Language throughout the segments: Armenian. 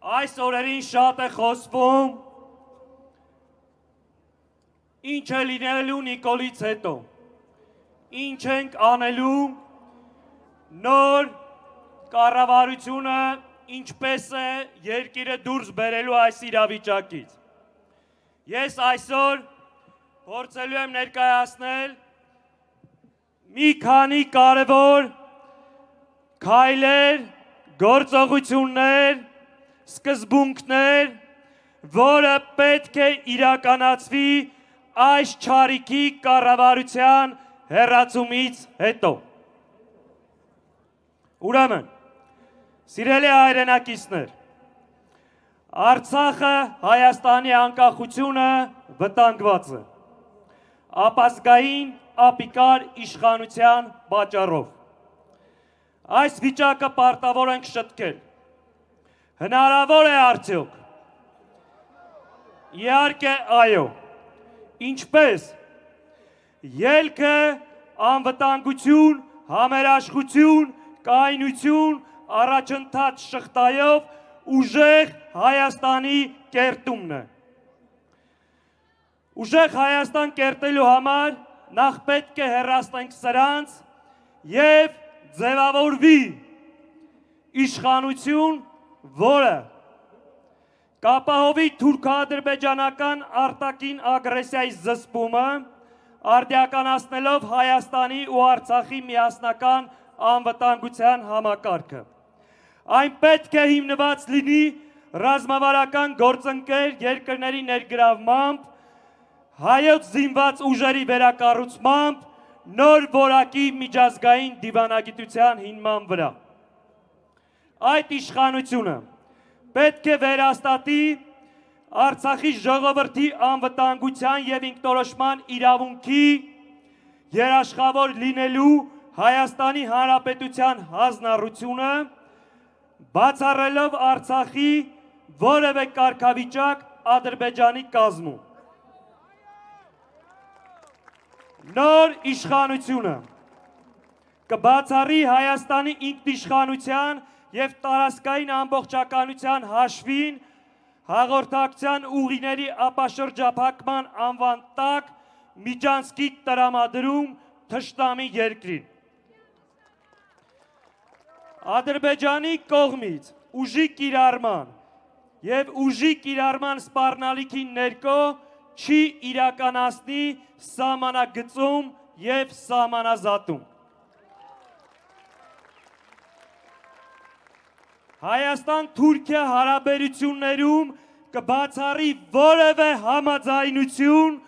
Այս օրերին շատ է խոսվում ինչ է լինելու Նիկոլից հետո, ինչ ենք անելու նոր կառավարությունը ինչպես է երկիրը դուրս բերելու այս իրավիճակից։ Ես այսօր փորձելու եմ ներկայացնել մի քանի կարևոր քայլեր, գործողություններ, սկզբունքներ, որը պետք է իրականացվի այս չարիքի կառավարության հեռացումից հետո։ Ուրեմն, սիրելի հայրենակիցներ, Արցախը Հայաստանի անկախությունը վտանգված է ապազգային ապիկար իշխանության պատճառով։ Այս վիճակը պարտավոր ենք շտկել։ Հնարավոր է արդյոք։ Իհարկե այո։ Ինչպես ելքը անվտանգություն, համերաշխություն, կայունություն, առաջընթաց շղթայով ուժեղ Հայաստանի կերտումն է։ Ուժեղ Հայաստան կերտելու համար նախ պետք է հեռացնենք սրանց և ձևավորվի իշխանություն, որը կապահովի թուրքա-ադրբեջանական արտաքին ագրեսիայի զսպումը, արդիականացնելով Հայաստանի ու Արցախի միասնական անվտանգության համակարգը։ Այն պետք է հիմնված լինի ռազմավարական գործընկեր երկրների ներգրավմամբ, հայոց զինված ուժերի վերակառուցմամբ, նոր որակի միջազգային դիվանագիտության հիման վրա։ Այդ իշխանությունը պետք է վերահաստատի Արցախի ժողովրդի անվտանգության և ինքնորոշման իրավունքի երաշխավոր լինելու Հայաստանի Հանրապետության հանձնառությունը, բացառելով Արցախի որևէ կարգավիճակ Ադրբեջանի կազմում։ Նոր իշխանությունը կբացառի Հայաստանի ինքնիշխանության և տարածքային ամբողջականության հաշվին հաղորդակցության ուղիների ապաշրջափակման անվան տակ միջանցքի տրամադրում թշնամի երկրին։ Ադրբեջանի կողմից ուժի կիրառման և ուժի կիրառման սպառնալիքի ներքո չի իրականացնի սահմանագծում և սահմանազատում։ Հայաստան-Թուրքիա հարաբերություններում կբացառի որևէ համաձայնություն,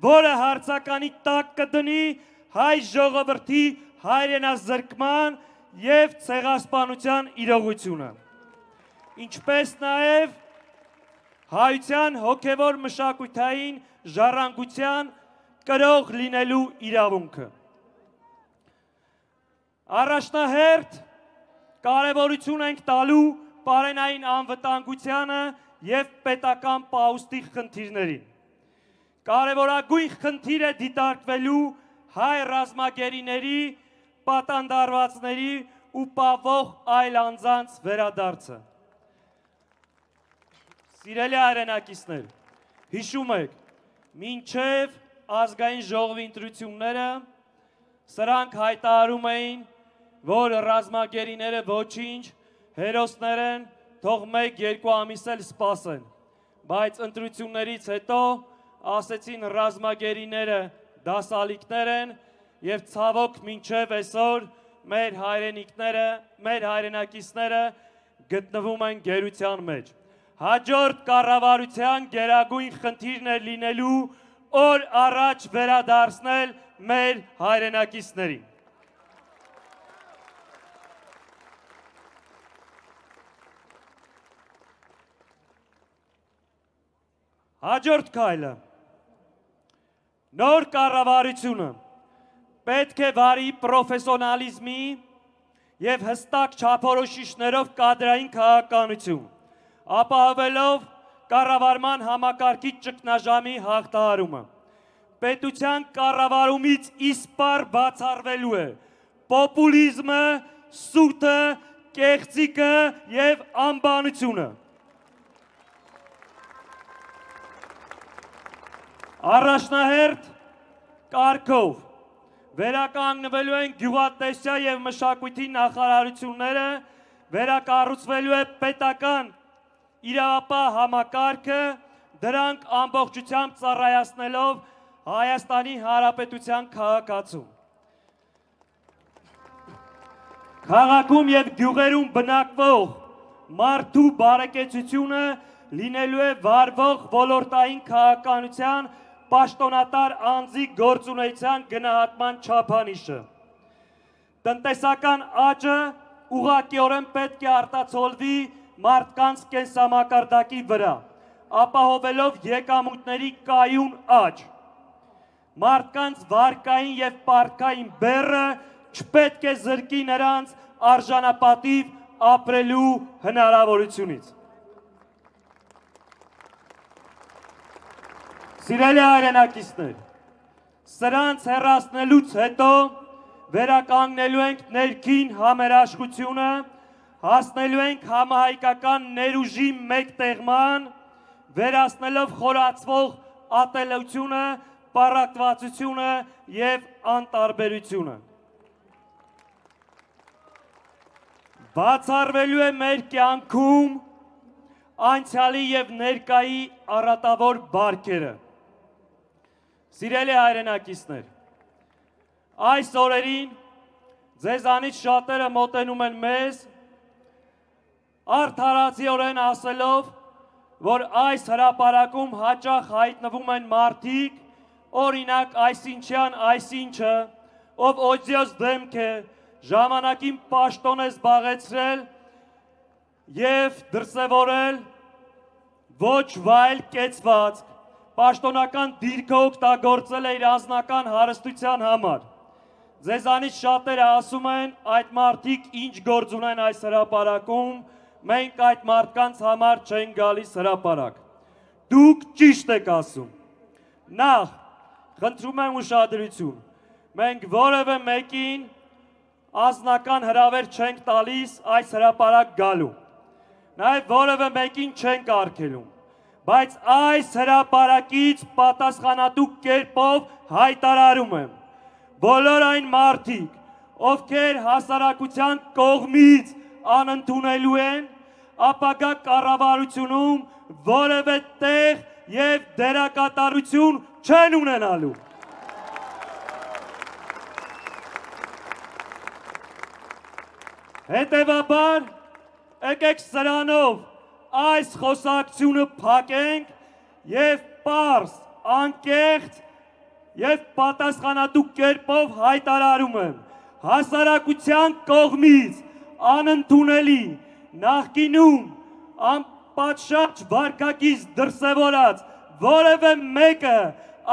որը հարցականի տակ կդնի հայ ժողովրդի հայրենազրկման և ցեղասպանության իրողությունը, ինչպես նաև հայության հոգևոր մշակութային ժառանգության կրող լինելու իրավունքը։ Առաջնահերթ կարևորություն ենք տալու պարենային անվտանգությանը և պետական պահուստի խնդիրներին։ Կարևորագույն խնդիր է դիտարկվելու հայ ռազմագերիների, պատանդարվածների ու պահվող այլ անձանց վերադարձը։ Սիրելի հայրենակիցներ, հիշում եք, մինչև ազգային ժողովի ընտրությունները սրանք հայտարարում էին, որ ռազմագերիները ոչինչ, հերոսներ են, թող 1-2 ամիս էլ սպասեն, բայց ընտրություններից հետո ասեցին ռազմագերիները դասալիկներ են և ցավոք մինչև այսօր մեր հայրենիքները, մեր հայրենակիցները գտնվում են գերության մեջ։ Հաջորդ կառավարության գերագույն խնդիրն է լինելու օր առաջ վերադարձնել մեր հայրենակիցներին։ Հաջորդ քայլը նոր կառավարությունը պետք է վարի պրոֆեսիոնալիզմի և հստակ չափորոշիչներով կադրային քաղաքականություն, ապահովելով կառավարման համակարգի ճգնաժամի հաղթահարումը։ Պետության կառավարումից իսպառ բացառվելու է պոպուլիզմը, սուտը, կեղծիկը եւ անբանությունը։ Առաջնահերթ կարգով վերականգնվելու են գյուղատնտեսության եւ մշակույթի նախարարությունները, վերակառուցվելու է պետական իրավապահ համակարգը, դրանք ամբողջությամբ ծառայացնելով Հայաստանի Հանրապետության քաղաքացուն։ Քաղաքում եւ գյուղերում բնակվող մարդու բարեկեցությունը լինելու է վարվող ոլորտային քաղաքականության պաշտոնատար անձի գործունեության գնահատման չափանիշը։ Տնտեսական աճը ուղղակիորեն պետք է արտացոլվի մարդկանց կենսամակարդակի վրա, ապահովելով եկամուտների կայուն աճ։ Մարդկանց վարկային եւ պարտքային բեռը չպետք է զրկի նրանց արժանապատիվ ապրելու հնարավորությունից։ Սիրելի հայրենակիցներ, սրանց հեռացնելուց հետո վերականգնելու ենք ներքին համերաշխությունը, հասնելու ենք համահայկական ներուժի մեկտեղման, վերացնելով խորացվող ատելությունը, պառակտվածությունը եւ անտարբերությունը։ Բացառվելու է մեր կյանքում անցյալի եւ ներկայի առատավոր բարքերը։ Սիրելի հայրենակիցներ, այս օրերին ձեզանից շատերը մոտենում են մեզ, արդարացիորեն ասելով, որ այս հրապարակում հաճախ հայտնվում են մարդիկ, օրինակ այսինչյան այսինչը, ով օձյոց դեմք է, ժամանակին պաշտոն է զբաղեցրել եւ դրսևորել ոչ վայել կեցված, պաշտոնական դիրքը օգտագործել է իր անձնական հարստության համար։ Ձեզանից շատերը ասում են, այդ մարդիկ ինչ գործ ունեն այս հրապարակում, մենք այդ մարդկանց համար չենք գալիս հրապարակ։ Դուք ճիշտ եք ասում։ Նախ, խնդրում եմ ուշադրություն, մենք որևէ մեկին անձնական հրավեր չենք տալիս այս հրապարակ գալու, նաև որևէ մեկին չենք արգելում, բայց այս հրապարակից պատասխանատու կերպով հայտարարում եմ, բոլոր այն մարդիկ, ովքեր հասարակության կողմից անընդունելու են, ապագա կառավարությունում որևէ տեղ եւ դերակատարություն չեն ունենալու։ Հետևաբար, եկեք սրանով այս խոսակցությունը փակենք եւ պարզ, անկեղծ եւ պատասխանատու կերպով հայտարարում եմ, հասարակության կողմից անընդունելի նախկինում անպատշաճ վարկակից դրսևորած որևէ մեկը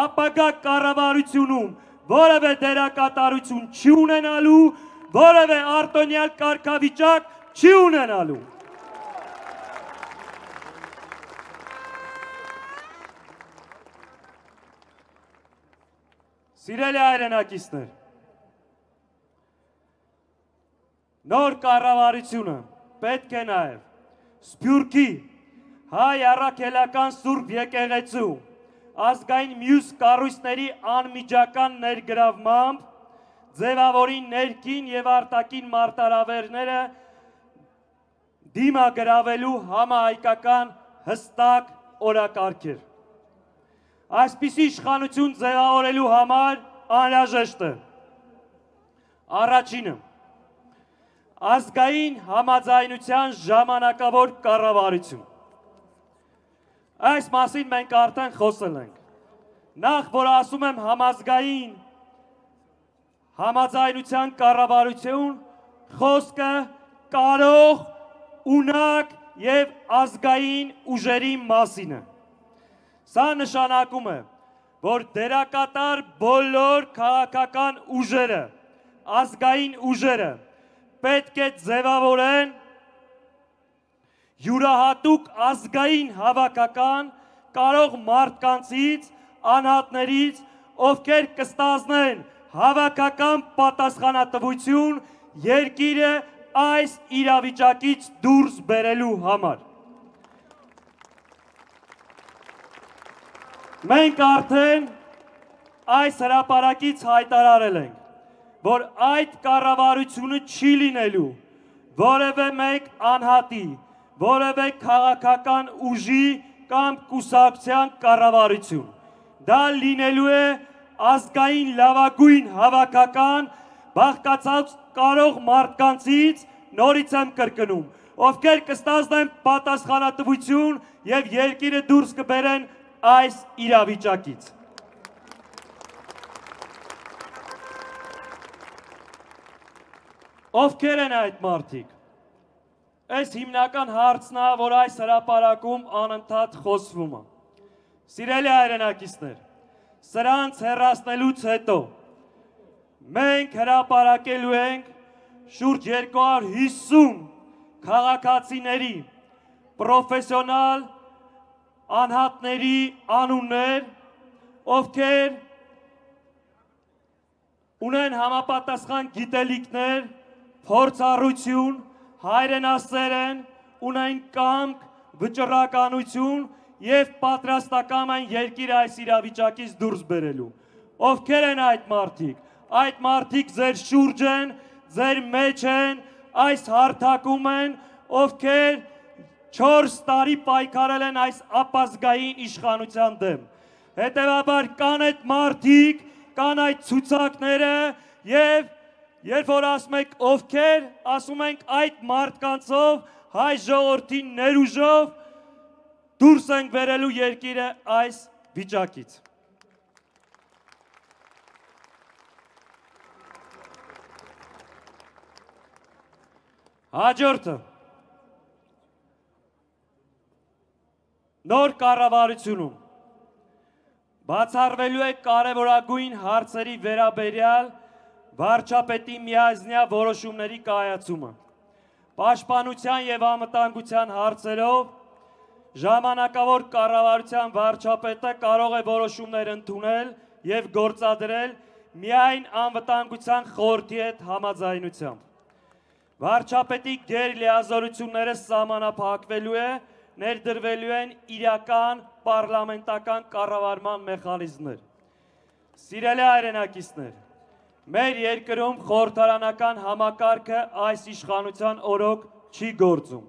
ապագա կառավարությունում որևէ դերակատարություն չի ունենալու, որևէ արտոնյալ կարգավիճակ չի ունենալու։ Սիրելի հայրենակիցներ, նոր կառավարությունը պետք է նաև Սփյուռքի հայ առաքելական Սուրբ եկեղեցու ազգային մյուս կառույցների անմիջական ներգրավմամբ ձևավորի ներքին եւ արտաքին մարտահրավերները դիմագրավելու համահայկական հստակ օրակարգեր։ Այսպիսի իշխանություն ձևավորելու համար անհրաժեշտ է առաջինը ազգային համաձայնության ժամանակավոր կառավարություն։ Այս մասին մենք արդեն խոսել ենք։ Նախ որ ասում եմ համազգային համաձայնության կառավարություն, խոսքը կարող, ունակ եւ ազգային ուժերի մասին է։ Սա նշանակում է, որ դերակատար բոլոր քաղաքական ուժերը, ազգային ուժերը պետք է ձևավորեն յուրահատուկ ազգային հավաքական կարող մարդկանցից, անհատներից, ովքեր կստանձնեն հավաքական պատասխանատվություն երկիրը այս իրավիճակից դուրս բերելու համար։ Մենք արդեն այս հրապարակից հայտարարել ենք, որ այդ կառավարությունը չի լինելու որևէ մեկ անհատի, որևէ քաղաքական ուժի կամ կուսակցության կառավարություն։ Դա լինելու է ազգային լավագույն հավաքական բաղկացած կարող մարդկանցից, նորից եմ կրկնում, ովքեր կստանձնեն պատասխանատվություն եւ երկիրը դուրս կբերեն այս իրավիճակից։ Ովքեր են այդ մարդիկ։ Այս հիմնական հարցն է, որ այս հրապարակում անընդհատ խոսվում է։ Սիրելի հայրենակիցներ, սրանց հեռացնելուց հետո մենք հրապարակելու ենք շուրջ 250 քաղաքացիների, պրոֆեսիոնալ անհատների անուններ, ովքեր ունեն համապատասխան գիտելիքներ, փորձառություն, հայրենասեր են, ունեն կամք, վճռականություն եւ պատրաստական են երկիրը այս իրավիճակից դուրս բերելու։ Ովքեր են այդ մարդիկ։ Այդ մարդիկ ձեր շուրջ են, ձեր մեջ են, այս հարթակում են, ովքեր 4 տարի պայքարել են այս ապազգային իշխանության դեմ։ Հետևաբար կան այդ մարդիկ, կան այդ ցուցակները եւ երբ որ ասում եք ովքեր, ասում ենք այդ մարդկանցով հայ ժողովրդի ներուժով դուրս ենք բերելու երկիրը այս վիճակից։ Հաջորդը նոր կառավարությունում բացառվելու է կարևորագույն հարցերի վերաբերյալ վարչապետի միայնյա որոշումների կայացումը։ Պաշտպանության եւ անվտանգության հարցերով ժամանակավոր կառավարության վարչապետը կարող է որոշումներ ընդունել եւ գործադրել միայն անվտանգության խորհրդի հետ համաձայնությամբ։ Վարչապետի գերլիազորությունները սահմանափակվելու է, ներդրվելու են իրական պարլամենտական կառավարման մեխանիզմներ։ Սիրելի հայրենակիցներ, մեր երկրում խորհրդարանական համակարգը այս իշխանության օրոք չի գործում։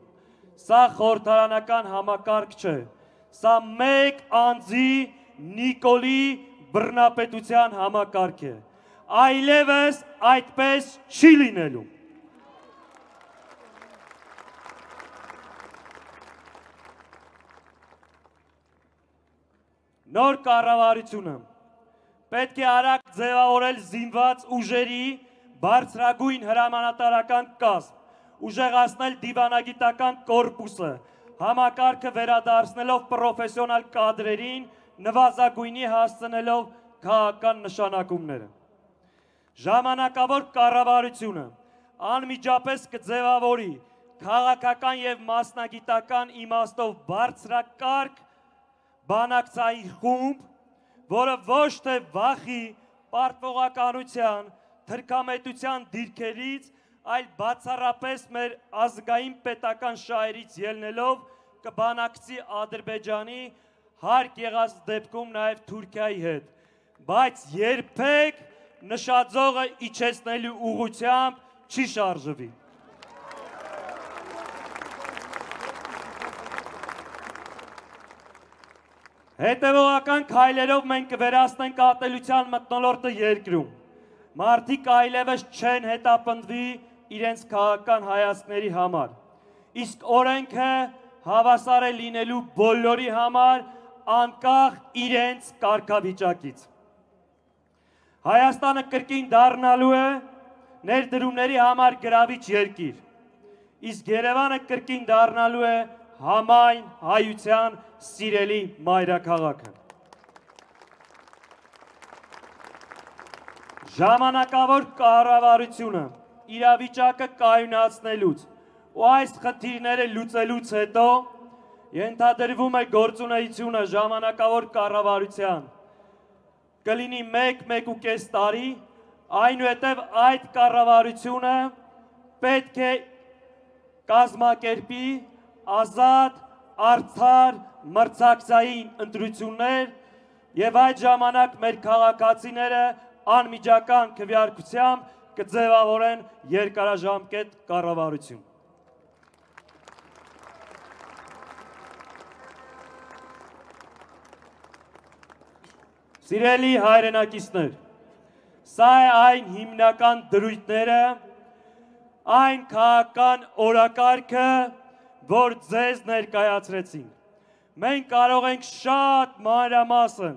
Սա խորհրդարանական համակարգ չէ։ Սա մեկ անձի Նիկոլի բռնապետության համակարգ է։ Այլևս այդպես չի լինելու։ Նոր կառավարությունը պետք է արագ ձևավորել զինված ուժերի բարձրագույն հրամանատարական կազմ, ուժեղացնել դիվանագիտական կորպուսը, համակարգը վերադարձնելով պրոֆեսիոնալ կադրերին, նվազագույնի հասցնելով քաղաքական նշանակումները։ Ժամանակավոր կառավարությունը անմիջապես կձևավորի քաղաքական եւ մասնագիտական իմաստով բարձրակարգ բանակցային խումբ, որը ոչ թե վախի, պարտվողականության, թրքամետության դիրքերից, այլ բացառապես մեր ազգային պետական շահերից ելնելով կբանակցի Ադրբեջանի, հարկ եղած դեպքում նաև Թուրքիայի հետ, բայց երբեք նշաձողը իջեցնելու ուղղությամբ չի շարժվի։ Հետևողական քայլերով մենք կվերացնենք ատելության մթնոլորտը երկրում։ Մարդիկ այլևս չեն հետապնդվի իրենց քաղաքական հայացքների համար։ Իսկ օրենքը հավասար է լինելու բոլորի համար, անկախ իրենց կարգավիճակից։ Հայաստանը կրկին դառնալու է ներդրումների համար գրավիչ երկիր, իսկ Երևանը կրկին դառնալու է համայն հայության սիրելի մայրաքաղաքը։ Ժամանակավոր կառավարությունը իրավիճակը կայունացնելուց ու այս խնդիրները լուծելուց հետո ենթադրվում է գործունեությունը ժամանակավոր կառավարության կլինի 1-1.5 տարի, այնուհետև այդ կառավարությունը պետք է կազմակերպի ազատ, արդար, մրցակցային ընտրություններ եւ այդ ժամանակ մեր քաղաքացիները անմիջական քվեարկությամբ կձևավորեն երկարաժամկետ կառավարություն։ Սիրելի հայրենակիցներ, սա է այն հիմնական դրույթները, այն քաղաքական օրակարգը, որ ձեզ ներկայացրեցինք։ Մենք կարող ենք շատ մանրամասն,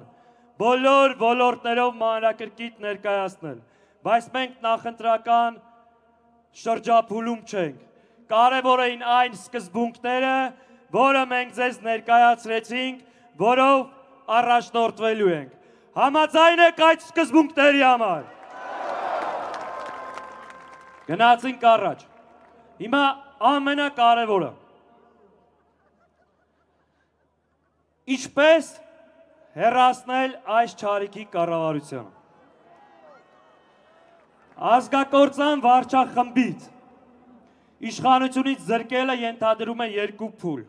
բոլոր ոլորտներով մանրակրկիտ ներկայացնել, բայց մենք նախընտրական շրջափուլում չենք։ Կարևոր էին այն սկզբունքները, որը մենք ձեզ ներկայացրեցինք, որով առաջնորդվելու ենք։ Համաձայն եք այդ սկզբունքների համար։ Գնացինք առաջ։ Հիմա ամենակարևորը։ Ինչպես հեռացնել այս չարիքի կառավարությունը։ Ազգակործան վարչախմբից իշխանությունից զրկելը ենթադրում է երկու փուլ։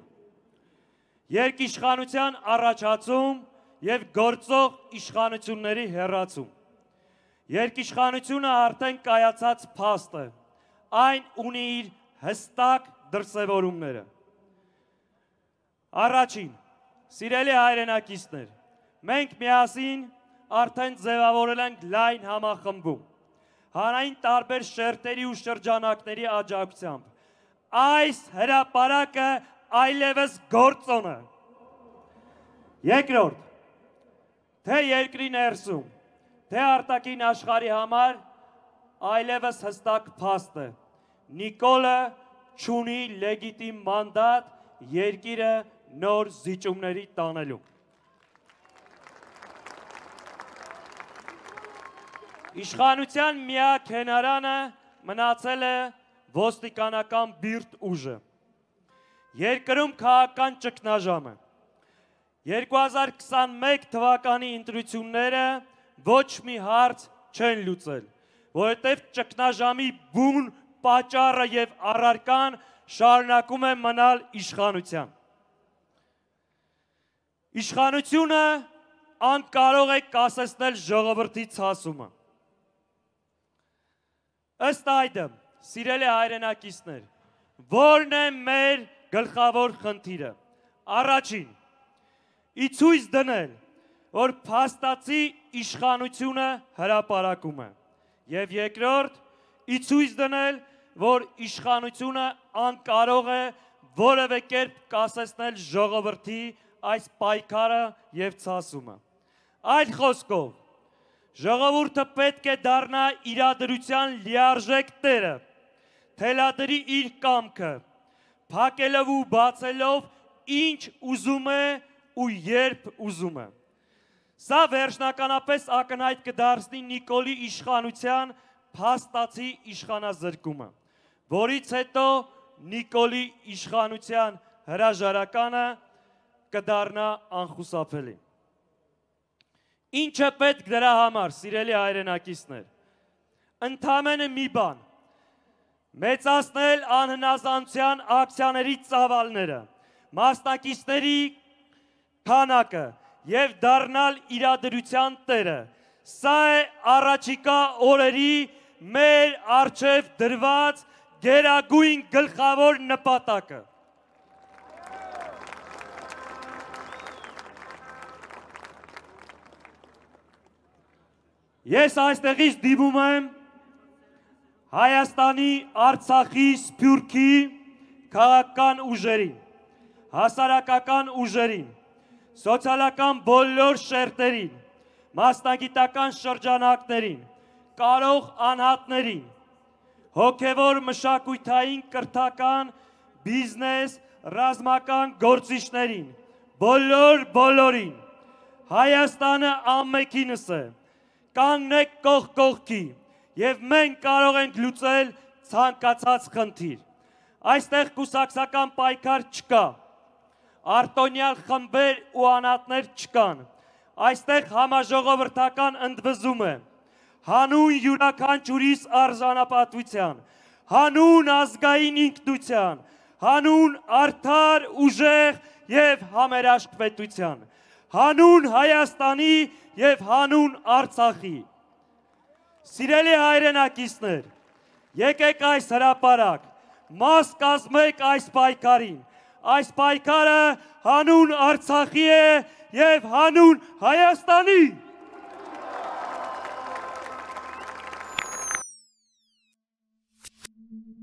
Երկիշխանության առաջացում և գործող իշխանությունների հեռացում։ Երկիշխանությունը արդեն կայացած փաստ է, այն ունի իր հստակ դրսևորումները։ Առաջին, սիրելի հայրենակիցներ, մենք միասին արդեն ձևավորել ենք լայն համախմբում, հանրային տարբեր շերտերի ու շրջանակների աջակցությամբ։ Այս հրապարակը այլևս գործոն է։ Երկրորդ, թե երկրի ներսում, թե արտաքին աշխարհի համար այլևս հստակ փաստ է։ Նիկոլը չունի լեգիտիմ մանդատ երկիրը նոր զիջումների տանելու։ Իշխանության միակ հենարանը մնացել է ոստիկանական բիրտ ուժը։ Երկրում քաղաքական ճգնաժամը։ 2021 թվականի ընտրությունները ոչ մի հարց չեն լուծել, որովհետև ճգնաժամի բուն պատճառը եւ առարկան շարունակում է մնալ իշխանության։ Իշխանությունը անկարող է կասեցնել ժողովրդի ցասումը։ Ըստ այդմ, սիրելի հայրենակիցներ, որն է մեր գլխավոր խնդիրը։ Առաջին, իցույց դնել, որ փաստացի իշխանությունը հրապարակում է, եւ երկրորդ, իցույց դնել, որ իշխանությունը անկարող է որևէ կերպ կասեցնել ժողովրդի այս պայքարը եւ ցասումը։ Այլ խոսքով, ժողովուրդը պետք է դառնա իրադրության լիարժեք տերը, թելադրի իր կամքը, փակելով ու բացելով ինչ ուզում է ու երբ ուզում է։ Սա վերջնականապես ակնհայտ կդարձնի Նիկոլի իշխանության փաստացի իշխանազրկումը, որից հետո Նիկոլի իշխանության հրաժարականը կդառնա անխուսափելի։ Ինչ է պետք դրա համար, սիրելի հայրենակիցներ։ Ընդամենը մի բան, մեծացնել անհնազանդության ակցիաների ծավալները, մասնակիցների քանակը եւ դառնալ իրադրության տերը։ Սա է առաջիկա օրերի մեր առջև դրված գերագույն գլխավոր նպատակը։ Ես այստեղից դիմում եմ Հայաստանի, Արցախի, Սփյուռքի քաղաքական ուժերին, հասարակական ուժերին, սոցիալական բոլոր շերտերին, մասնագիտական շրջանակներին, կարող անհատներին, հոգևոր մշակութային կրթական, բիզնես, ռազմական գործիչներին, բոլորին, Հայաստանը ամենքինս է, կանգնեք կողք կողքի եւ մենք կարող ենք լուծել ցանկացած խնդիր։ Այստեղ կուսակցական պայքար չկա, արտոնյալ խմբեր ու անհատներ չկան, այստեղ համաժողովրդական ընդվզում է, հանուն յուրաքանչյուրիս արժանապատվության, հանուն ազգային ինքնության, հանուն արդար, ուժեղ եւ համերաշխ պետության, հանուն Հայաստանի եւ հանուն Արցախի։ Սիրելի հայրենակիցներ, եկեք այս հրապարակ, մաս կազմեք այս պայքարին, այս պայքարը հանուն Արցախի է եւ հանուն Հայաստանի։